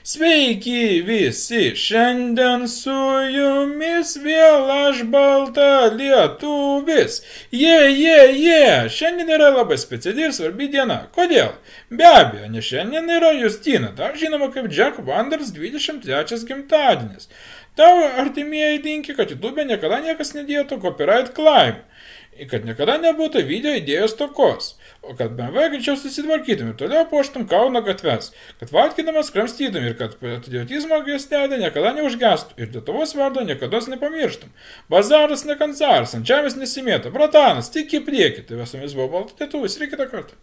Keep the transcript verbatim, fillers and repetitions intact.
Sveiki visi, šiandien su jumis vėl aš balta lietuvis. Jie, jie, jie, šiandien yra labai speciali ir svarbi diena. Kodėl? Be abejo, nes šiandien yra Justina, dar žinoma kaip Jack Wonders dvidešimt trečias gimtadienis. Tavo artimieji linki, kad YouTube niekada niekas nedėtų copyright claim. Ir kad niekada nebūtų video idėjos tokos, o kad B M W greičiau susitvarkytum ir toliau puoštum Kauno gatves, kad valgydamas kramstytum ir kad patriotizmo gestelė niekada neužgestų ir Lietuvos vardo niekada nepamirštum. Bazaras ne kancaras, ant žemės nesimėta, bratanas, tik į priekį, tai visomis buvo balta lietuvis ir kitą kartą.